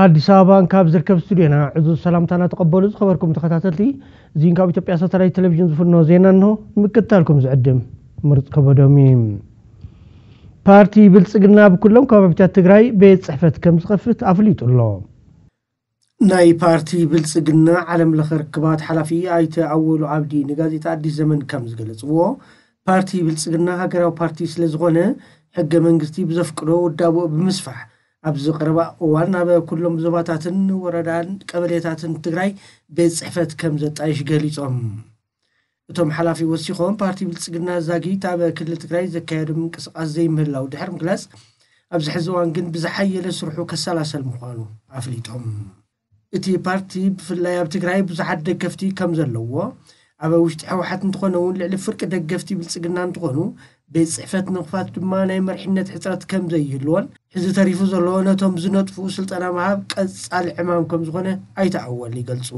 ኣዲስ ኣበባን ካብ ዝርከብ ስቱድዮና ዕዙዝ ሰላምታና ተቐበሉ። ዝኸበርኩም ተኸታተልቲ፣ እዚን ካብ ኢትዮጵያ ሳተላይት ቴሌቪዥን ዝፍኖ ዜና እንሆ። ንምክትታልኩም ዝዕድም ምርፅ ከበዶም እዩ። ፓርቲ ብልፅግና ብኩሎም ከባቢታት ትግራይ ቤት ፅሕፈት ከም ዝኸፍት ኣፍሊጡ ኣሎ። ናይ ፓርቲ ብልፅግና ዓለም ለኸ ርክባት ሓላፊ ኣይተ ኣወሉ ዓብዲ ንጋዜጣ ኣዲስ ዘመን ከም ዝገለፅዎ፣ ፓርቲ ብልፅግና ሃገራዊ ፓርቲ ስለ ዝኾነ፣ ሕገ መንግስቲ ብዘፍቅዶ ውዳብኡ ብምስፋሕ፣ ኣብዚ ቀረባ እዋን ኣብ ኩሎም ዞባታትን ወረዳን ቀበሌታትን ትግራይ ቤት ፅሕፈት ከም ዘጣይሽ ገሊጾም። እቶም ሓላፊ ወሲኾም፣ ፓርቲ ብልፅግና ዛጊት ኣብ ክልል ትግራይ ዘካየዶ ምንቅስቃስ ዘይምህላው ድሕሪ ምግላጽ፣ ኣብዚ ሕዚ እዋን ግን ብዝሓየለ ስርሑ ከሰላሰል ምዃኑ ኣፍሊጦም። እቲ ፓርቲ ብፍላይ ኣብ ትግራይ ብዙሓት ደገፍቲ ከም ዘለዎ፣ ኣብ ውሽጢ ህወሓት እንተኾነ እውን ልዕሊ ፍርቂ ደገፍቲ ብልፅግና እንትኾኑ፣ ቤት ፅሕፈት ንምኽፋት ድማ ናይ መሪሕነት ሕፅረት ከም ዘይህልዎን፣ ሕዚ ተሪፉ ዘሎ ነቶም ዝነጥፉ ስልጠና ምሃብ ቀፃሊ ዕማም ከም ዝኾነ ኣይተ ኣወል ይገልፁ።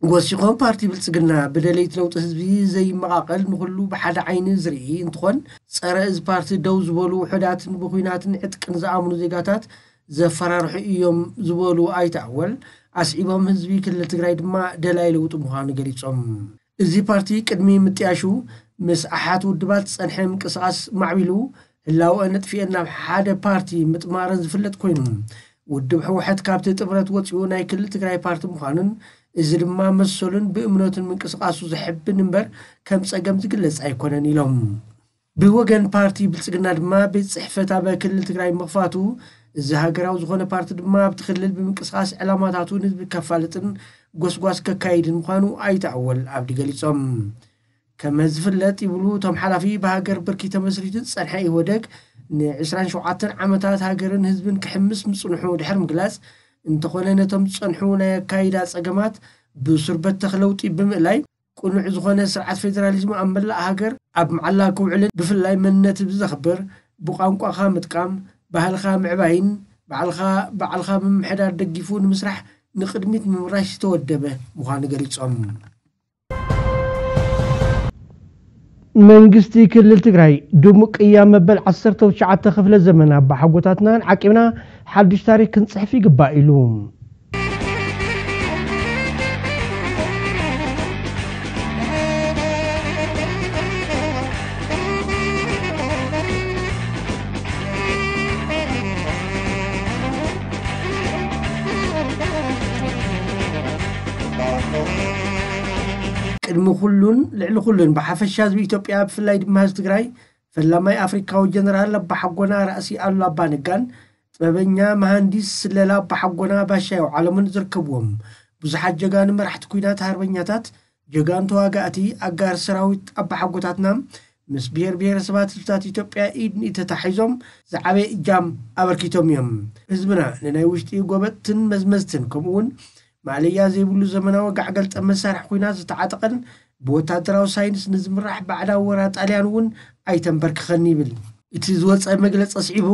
ወሲኾም፣ ፓርቲ ብልፅግና ብደለይቲ ለውጢ ህዝቢ ዘይመቓቐል፣ ንኹሉ ብሓደ ዓይኒ ዝርኢ እንትኾን፣ ጸረ እዚ ፓርቲ ደው ዝበሉ ውሑዳትን ብኹናትን ዕጥቅን ዝኣምኑ ዜጋታት ዘፈራርሑ እዮም ዝበሉ ኣይተ ኣወል፣ ኣስዒቦም፣ ህዝቢ ክልል ትግራይ ድማ ደላይ ለውጢ ምዃኑ ገሊጾም። እዚ ፓርቲ ቅድሚ ምጥያሹ ምስ ኣሓት ውድባት ዝጸንሐ ምንቅስቓስ ማዕቢሉ፣ ህላወ ነጥፊኤን ናብ ሓደ ፓርቲ ምጥማረን ዝፍለጥ ኮይኑ፣ ውድብ ህወሓት ካብቲ ጥምረት ወጺኡ ናይ ክልል ትግራይ ፓርቲ ምዃኑን፣ እዚ ድማ መሰሉን ብእምነቱን ምንቅስቓሱ ዘሕብን እምበር ከም ጸገም ዝግለጽ ኣይኮነን ኢሎም። ብወገን ፓርቲ ብልጽግና ድማ ቤት ጽሕፈት ኣብ ክልል ትግራይ ምኽፋቱ፣ እዚ ሃገራዊ ዝኾነ ፓርቲ ድማ ኣብቲ ክልል ብምንቅስቓስ ዕላማታቱ ንህዝቢ ከፋልጥን ጎስጓስ ከካይድን ምዃኑ ኣይተ ኣወል ኣብዲ ገሊጾም። ከም ዝፍለጥ ይብሉ እቶም ሓላፊ፣ ብሃገር ብርኪ ተመስሪቱ ዝጸንሐ ኢህወደግ ን ዕስራን ሸውዓተን ዓመታት ሃገርን ህዝብን ክሕምስ ምጽንሑ ድሕሪ ምግላጽ፣ እንተኾነ ነቶም ዝጸንሑ ናይ ኣካይዳ ጸገማት ብሱር በተኽ ለውጢ ብምእላይ፣ ቅኑዕ ዝኾነ ስርዓት ፌደራሊዝም ኣብ መላእ ሃገር ኣብ መዓላ ክውዕልን ብፍላይ መንነት ህዝቢ ዘኽብር፣ ብቋንቋኻ ምጥቃም፣ ባህልኻ ምዕባይን ባዕልኻ ባዕልኻ ምምሕዳር ደጊፉ ንምስራሕ ንቕድሚት ምምራሽ ዝተወደበ ምዃኑ ገሊጾም። መንግስቲ ክልል ትግራይ ድሙቕ ቅያ መበል ዓሰርተ ትሽዓተ ክፍለ ዘመን ኣባሓጎታትናን ዓቂብና ሓድሽ ታሪክ ክንጽሕፍ ይግባእ ኢሉ። ቅድሚ ኩሉን ልዕሊ ኩሉን ብሓፈሻ ህዝቢ ኢትዮጵያ ብፍላይ ድማ ህዝቢ ትግራይ ፈላማይ ኣፍሪካዊ ጀነራል ኣባሓጎና ራእሲ ኣሉላ ኣባነጋን ጥበበኛ መሃንዲስ ስለላ ኣባሓጎና ባሻ የውዓለሙን ዝርከብዎም ብዙሓት ጀጋኑ መራሕቲ ኲናት ሃርበኛታት ጀጋኑ ተዋጋእቲ ኣጋር ሰራዊት ኣባሓጎታትና ምስ ብሔር ብሔረሰባት ህዝብታት ኢትዮጵያ ኢድ ንኢድ ተታሒዞም ዝዓበየ እጃም ኣበርኪቶም እዮም። ህዝብና ንናይ ውሽጢ ጎበጥትን መዝመዝትን ከምኡ እውን ማእለያ ዘይብሉ ዘመናዊ ጋዕ ገልጠም መሳርሒ ኲናት ዝተዓጠቐን ብወታደራዊ ሳይንስ ንዝምራሕ ባዕዳዊ ወራር ጣልያን እውን ኣይተንበርክኸን ይብል። እቲ ዝወፀ መግለፂ ኣስዒቡ፣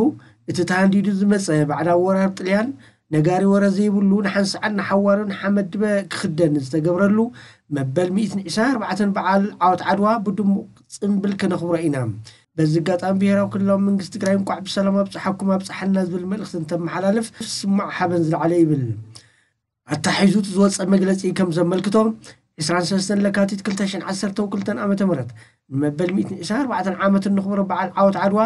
እቲ ተሃንዲዱ ዝመፀ ባዕዳዊ ወራር ጥልያን ነጋሪ ወረ ዘይብሉ ንሓንሳዕን ንሓዋሩን ሓመድ ድበ ክኽደን ዝተገብረሉ መበል ሚእትን ዕስራን ኣርባዕተን በዓል ዓወት ዓድዋ ብድሙቕ ፅምብል ክነኽብሮ ኢና። በዚ ኣጋጣሚ ብሄራዊ ክልላዊ መንግስቲ ትግራይ እንኳዕ ብሰላም ኣብፀሓኩም ኣብፀሓና ዝብል መልእኽቲ እንተመሓላልፍ ስማዕ ሓበን ዝለዓለ ይብል። ኣታሒዙ እቲ ዝወፀ መግለፂ ከም ዘመልክቶ፣ ዕስራን ሰለስተን ለካቲት ክልተ ሽሕን ዓሰርተው ክልተን ዓመተ ምህረት ንመበል ሚእትን ዕስራን ኣርባዕተን ዓመት እንኽብሮ በዓል ዓወት ዓድዋ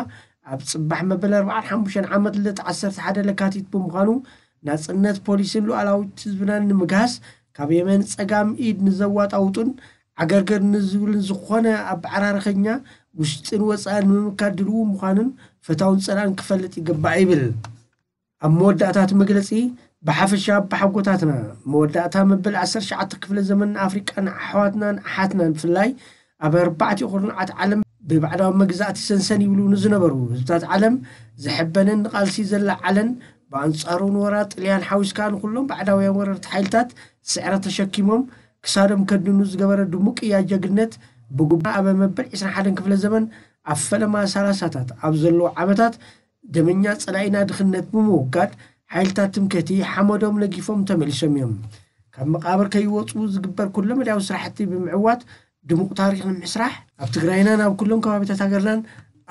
ኣብ ፅባሕ መበል ኣርባዓን ሓሙሽተን ዓመት ልደት ዓሰርተ ሓደ ለካቲት ብምዃኑ ናፅነት ፖሊስን ሉዓላዊት ህዝብናን ንምግሃስ ካብ የመን ፀጋም ኢድ ንዘዋጣውጡን ዓገርገር ንዝብልን ዝኾነ ኣበዓራርኸኛ ውሽጥን ወፃእን ንምምካት ድልዉ ምዃኑን ፈታውን ፀላእን ክፈልጥ ይግባእ ይብል። ኣብ መወዳእታ እቲ መግለፂ ብሓፈሻ ኣባሓጎታትና መወዳእታ መበል ዓሰርተ ትሽዓተ ክፍለ ዘመን ንኣፍሪቃን ኣሕዋትናን ኣሓትናን ብፍላይ ኣብ ኣርባዕቲኡ ኩርናዓት ዓለም ብባዕዳዊ መግዛእቲ ሰንሰን ይብሉ ንዝነበሩ ህዝብታት ዓለም ዘሐበነን ንቓልሲ ዘለዓለን ብኣንጻሩ ንወራር ጥልያን ሓዊስካ ንኩሎም ባዕዳውያን ወረርቲ ሓይልታት ስዕረት ተሸኪሞም ክሳዶም ከድኑ ዝገበረ ድሙቕ እያ ጀግነት ብጉባ ኣብ መበል ዕስራን ሓደን ክፍለ ዘመን ኣብ ፈለማ ሰላሳታት ኣብ ዘለዎ ዓመታት ደመኛ ጸላኢና ድኽነት ብምውጋድ ሓይልታት ትምክህቲ ሓመዶም ነጊፎም ተመሊሶም እዮም። ካብ መቓብር ከይወፁ ዝግበር ኩለ መዳያዊ ስራሕቲ ብምዕዋት ድሙቕ ታሪኽ ንምስራሕ ኣብ ትግራይናን ኣብ ኩሎም ከባቢታት ሃገርናን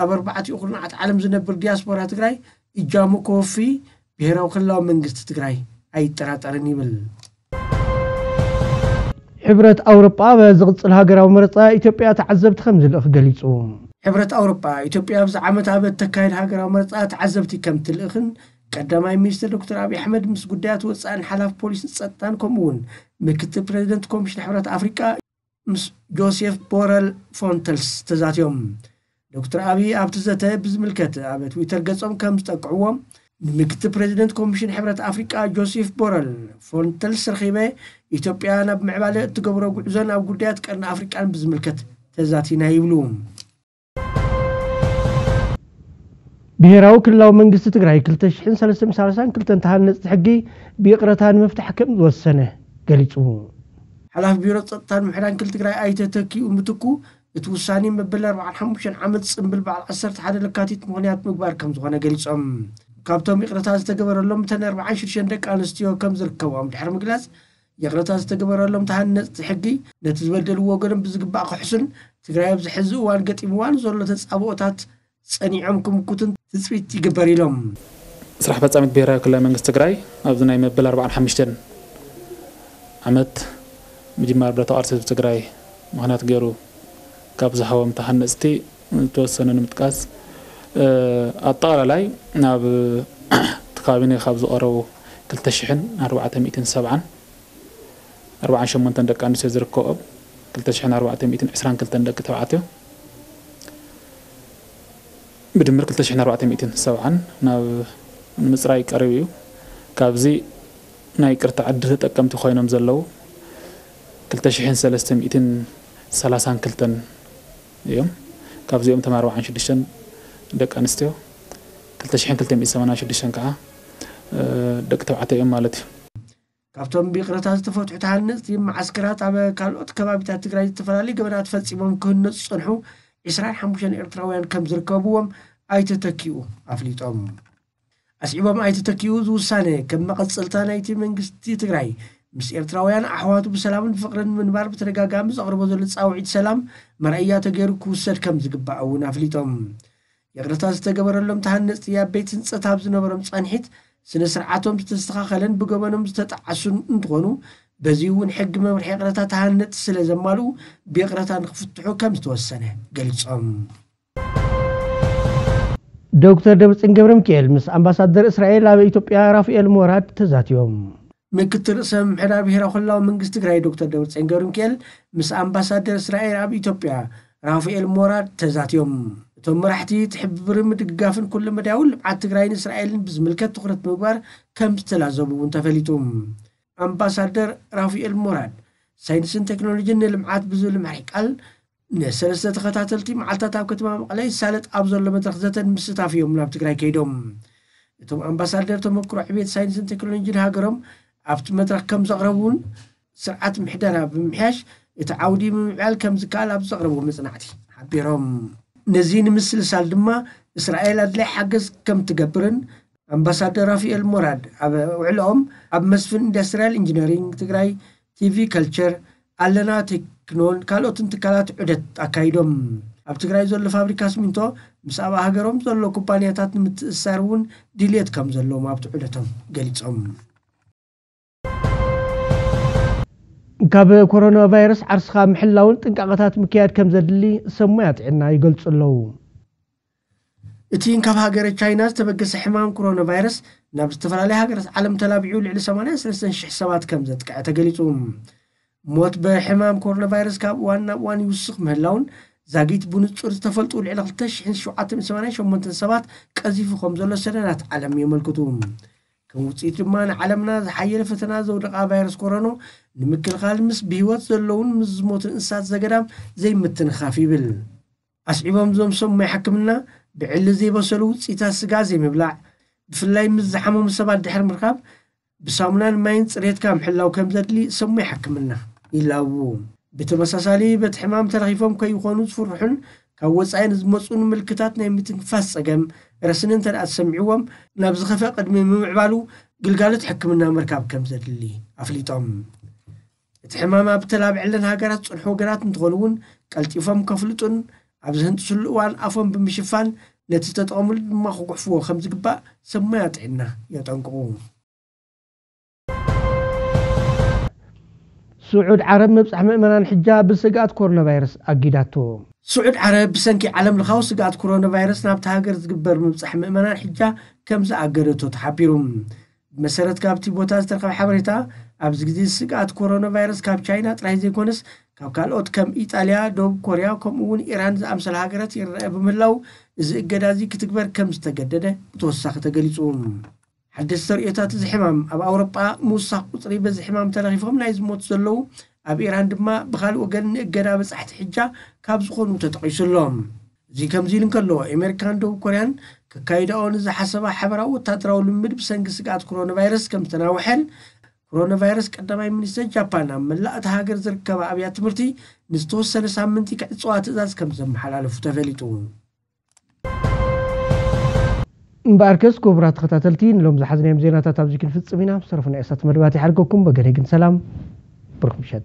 ኣብ ኣርባዕቲኡ ኩርናዓት ዓለም ዝነብር ዲያስፖራ ትግራይ እጃሙ ከወፊ ብሄራዊ ክልላዊ መንግስቲ ትግራይ ኣይጠራጠርን ይብል። ሕብረት ኣውሮጳ ኣብ ዝቕጽል ሃገራዊ መረጻ ኢትዮጵያ ተዓዘብቲ ከም ዝልእኽ ገሊጹ። ሕብረት ኣውሮጳ ኢትዮጵያ ኣብዚ ዓመት ኣብ እተካየድ ሃገራዊ መረጻ ተዓዘብቲ ከም ትልእኽን ቀዳማይ ሚኒስትር ዶክተር ኣብይ ኣሕመድ ምስ ጉዳያት ወጻእን ሓላፊ ፖሊስን ጸጥታን ከምኡ እውን ምክትል ፕሬዚደንት ኮሚሽን ሕብረት ኣፍሪቃ ምስ ጆሴፍ ቦረል ፎንተልስ ተዛትዮም። ዶክተር ኣብይ ኣብቲ ዘተ ብዝምልከት ኣብ ትዊተር ገጾም ከም ዝጠቅዕዎም፣ ንምክትል ፕሬዚደንት ኮሚሽን ሕብረት ኣፍሪቃ ጆሴፍ ቦረል ፎንተልስ ረኺበ ኢትዮጵያ ናብ ምዕባለ እትገብሮ ጉዕዞን ኣብ ጉዳያት ቀርኒ ኣፍሪቃን ብዝምልከት ተዛቲና ይብሉ። ብሄራዊ ክልላዊ መንግስቲ ትግራይ ክልተ ሽሕን ሰለስተ ሚእትን ሰላሳን ክልተን ተሃነፅቲ ሕጊ ብይቕረታ ንምፍታሕ ከም ዝወሰነ ገሊፁ። ሓላፊ ቢሮ ጸጥታን ምሕዳን ክልል ትግራይ ኣይተ ተኪኡ ምትኩ፣ እቲ ውሳኔ መበል ኣርባዓን ሓሙሽተን ዓመት ጽምብል በዓል ዓሰርተ ሓደ ለካቲት ምኽንያት ምግባር ከም ዝኾነ ገሊጾም። ካብቶም ይቕረታ ዝተገበረሎም እተን ኣርባዓን ሽዱሽተን ደቂ ኣንስትዮ ከም ዝርከብኦም ድሕሪ ምግላጽ፣ ይቕረታ ዝተገበረሎም ተሃነጽቲ ሕጊ ነቲ ዝበደልዎ ወገኖም ብዝግባእ ክሕሱን ትግራይ ኣብዚ ሕዚ እዋን ገጢምዋ ንዘሎ ተጻብኦታት ጸኒዖም ክምክቱን ትጽቢት ይግበር ኢሎም። ስራሕ ፈጻሚት ብሄራዊ ክልላዊ መንግስቲ ትግራይ ኣብዚ ናይ መበል ኣርባዓን ሓሙሽተን ዓመት ምጅማር ብረታዊ ቃልሲ ህዝቢ ትግራይ ምኽንያት ገይሩ ካብ ዝሃቦም ተሃነፅቲ ዝተወሰነ ንምጥቃስ፣ እ፣ ኣጠቓላላይ ናብ እቲ ካቢኔ ካብ ዝቐረቡ ክልተ ሽሕን ኣርባዕተ ሚእትን ሰብዓን ኣርባዓን ሸሞንተን ደቂ ኣንስትዮ ዝርከብኦም ክልተ ሽሕን ኣርባዕተ ሚእትን ዕስራን ክልተን ደቂ ተባዕትዮ ብድምር ክልተ ሽሕን ኣርባዕተ ሚእትን ሰብዓን ናብ ንምፅራይ ቀሪቡ እዩ። ካብዚ ናይ ይቅርታ ዕድል ተጠቀምቲ ኮይኖም ዘለዉ ክልተ ሽሕን ሰለስተ ሚእትን ሰላሳን ክልተን እዮም። ካብዚኦም እቶም ኣርባዓን ሽዱሽተን ደቂ ኣንስትዮ፣ ክልተ ሽሕን ክልተ ሚእትን ሰማንያን ሽዱሽተን ከዓ፣ እ፣ ደቂ ተባዕትዮ እዮም ማለት እዩ። ካብቶም ብይቕረታ ዝተፈትሑ ተሃነፅቲ መዓስከራት ኣብ ካልኦት ከባቢታት ትግራይ ዝተፈላለዩ ገበናት ፈፂሞም ክህነፁ ዝፀንሑ ዕስራን ሓሙሽተን ኤርትራውያን ከም ዝርከብዎም ኣይተ ተኪኡ ኣፍሊጦም። ኣስዒቦም ኣይተ ተኪኡ እዚ ውሳነ ከም መቐፀልታ ናይቲ መንግስቲ ትግራይ ምስ ኤርትራውያን ኣሕዋቱ ብሰላምን ፍቕርን ምንባር ብተደጋጋሚ ዘቕርቦ ዘሎ ፃውዒት ሰላም መርኣያ ተገይሩ ክውሰድ ከም ዝግባእ እውን ኣፍሊጦም። ይቕረታ ዝተገበረሎም ተሃነፅቲ ኣብ ቤት ህንፀት ኣብ ዝነበሮም ፃንሒት ስነ ስርዓቶም ዝተስተኻኸለን ብገበኖም ዝተጣዓሱን እንትኾኑ፣ በዚ እውን ሕጊ መምርሒ ይቕረታ ተሃነፅቲ ስለ ዘማልኡ ብይቕረታ ንክፍትሑ ከም ዝተወሰነ ገሊፆም። ዶክተር ደብረፅዮን ገብረ ሚካኤል ምስ ኣምባሳደር እስራኤል ኣብ ኢትዮጵያ ራፋኤል ሞራድ ተዛትዮም። ምክትል ርእሰ ምምሕዳር ብሄራዊ ክልላዊ መንግስቲ ትግራይ ዶክተር ደብረፅዮን ገብረ ሚካኤል ምስ ኣምባሳደር እስራኤል ኣብ ኢትዮጵያ ራፋኤል ሞራድ ተዛትዮም። እቶም መራሕቲ ትሕብብርን ምድግጋፍን ኩለ መዳያዊ ልምዓት ትግራይን እስራኤልን ብዝምልከት ትኹረት ምግባር ከም ዝተላዘቡ እውን ተፈሊጡ። ኣምባሳደር ራፋኤል ሞራድ ሳይንስን ቴክኖሎጂን ንልምዓት ብዝብል መሪሕ ቃል ንሰለስተ ተኸታተልቲ መዓልታት ኣብ ከተማ መቐለ ይሳለጥ ኣብ ዘሎ መድረኽ ዘተን ምስታፍ እዮም ናብ ትግራይ ከይዶም። እቶም ኣምባሳደር ተመክሮ ዕቤት ሳይንስን ቴክኖሎጂን ሃገሮም ኣብቲ መድረኽ ከም ዘቕረቡን ስርዓት ምሕደራ ብምምሕያሽ እቲ ዓውዲ ምምዕባል ከም ዝከኣል ኣብ ዘቕረብዎ መጽናዕቲ ሓቢሮም። ነዚ ንምስልሳል ድማ እስራኤል ኣድላይ ሓገዝ ከም ትገብርን ኣምባሳደር ራፋኤል ሞራድ ኣብ ውዕልኦም ኣብ መስፍን ኢንዱስትሪያል ኢንጂነሪንግ ትግራይ፣ ቲቪ ከልቸር፣ ኣለና ቴክኖን ካልኦትን ትካላት ዑደት ኣካይዶም። ኣብ ትግራይ ዘሎ ፋብሪካ ሲሚንቶ ምስ ኣብ ሃገሮም ዘሎ ኩባንያታት ንምትእስሳር እውን ድልየት ከም ዘለዎም ኣብቲ ዑደቶም ገሊጾም። ካብ ኮሮና ቫይረስ ዓርስኻ ምሕላውን ጥንቃቐታት ምክያድ ከም ዘድሊ ሰብ ሞያ ጥዕና ይገልጹ ኣለዉ። እቲ ካብ ሃገረ ቻይና ዝተበገሰ ሕማም ኮሮና ቫይረስ ናብ ዝተፈላለያ ሃገራት ዓለም ተላቢዑ ልዕሊ ሰማንያን ሰለስተን ሽሕ ሰባት ከም ዘጥቅዐ ተገሊጹ። ሞት ብሕማም ኮሮና ቫይረስ ካብ እዋን ናብ እዋን ይውስኽ ምህላውን ዛጊት ብንጹር ዝተፈልጡ ልዕሊ ክልተ ሽሕን ሸውዓተ ሚእትን ሰማንያን ሸሞንተን ሰባት ቀዚፉ ከም ዘሎ ሰነዳት ዓለም የመልክቱ። ከም ውጽኢት ድማ ንዓለምና ዝሓየለ ፈተና ዘውደቓ ቫይረስ ኮሮኖ ንምክልኻል ምስ ብህይወት ዘለውን ምስ ዝሞቱን እንስሳት ዘገዳም ዘይምትንኻፍ ይብል። ኣስዒቦም እዞም ሰብ ሞያ ሕክምና ብዕሊ ዘይበሰሉ ውጽኢታት ስጋ ዘይምብላዕ፣ ብፍላይ ምስ ዝሓመሙ ሰባት ድሕሪ ምርካብ ብሳሙናን ማይን ጽሬትካ ምሕላው ከም ዘድሊ ሰብ ሞያ ሕክምና ይላቡ። ብተመሳሳሊ በቲ ሕማም ተለኺፎም ከይኾኑ ዝፍርሑን ካብ ወጻኢ ንዝመጹ ንምልክታት ናይ ምትንፋስ ጸገም ረስኒ እንተ ደኣ ተሰሚዕዎም ናብ ዝኸፍአ ቅድሚ ምምዕባሉ ግልጋሎት ሕክምና ምርካብ ከም ዘድሊ ኣፍሊጦም። እቲ ሕማም ኣብ ተላብዐለን ሃገራት ዝጸንሑ ወገናት እንተኾኑ እውን ቀልጢፎም ከፍልጡን ኣብ ዝህንጥስሉ እዋን ኣፎም ብምሽፋን ነቲ ዝተጠቐምሉ ድማ ክጉሕፍዎ ከም ዝግባእ ሰብ ሞያ ጥዕና የጠንቅቑ። ስዑድ ዓረብ ምብጻሕ ምእመናን ሕጃ ብስግኣት ኮሮና ቫይረስ ኣጊዳቶ። ስዑድ ዓረብ ብሰንኪ ዓለም ለኻዊ ስግኣት ኮሮና ቫይረስ ናብቲ ሃገር ዝግበር ምብጻሕ ምእመናን ሕጃ ከም ዝኣገደቶ ተሓቢሩ። ብመሰረት ካብቲ ቦታ ዝተረኸበ ሓበሬታ፣ ኣብዚ ግዜ ስግኣት ኮሮና ቫይረስ ካብ ቻይና ጥራይ ዘይኮነስ ካብ ካልኦት ከም ኢጣልያ፣ ደቡብ ኮርያ ከምኡ እውን ኢራን ዝኣምሰላ ሃገራት ይረአ ብምህላው፣ እዚ እገዳ እዚ ክትግበር ከም ዝተገደደ ብተወሳኺ ተገሊጹ። ሓደስቲ ተርእዮታት እዚ ሕማም ኣብ ኣውሮጳ ምውሳኽ ቁጽሪ በዚ ሕማም ተለኺፎም ናይ ዝሞቱ ዘለዉ፣ ኣብ ኢራን ድማ ብኻልእ ወገን ንእገዳ በጻሕቲ ሕጃ ካብ ዝኾኑ ተጠቒሱ ኣሎ። እዚ ከምዚ ኢሉ እንከሎ፣ ኣሜሪካን ደቡብ ኮርያን ከካይዳኦ ንዝሓሰባ ሓበራዊ ወታደራዊ ልምምድ ብሰንኪ ስግኣት ኮሮና ቫይረስ ከም ዝተናውሐን፣ ኮሮና ቫይረስ ቀዳማይ ሚኒስተር ጃፓን ኣብ መላእ እታ ሃገር ዝርከባ ኣብያተ ትምህርቲ ንዝተወሰነ ሳምንቲ ክዕጽዋ ትእዛዝ ከም ዘመሓላለፉ ተፈሊጡ። እምበኣርከስ ክቡራት ተኸታተልቲ፣ ንሎም ዝሓዝናዮም ዜናታት ኣብዚ ክንፍጽም ኢና። ኣብ ዝተረፉ ናይ እሳት መደባት ይሓድገኩም። በገደይ ግን ሰላም፣ ብሩኽ ምሸት።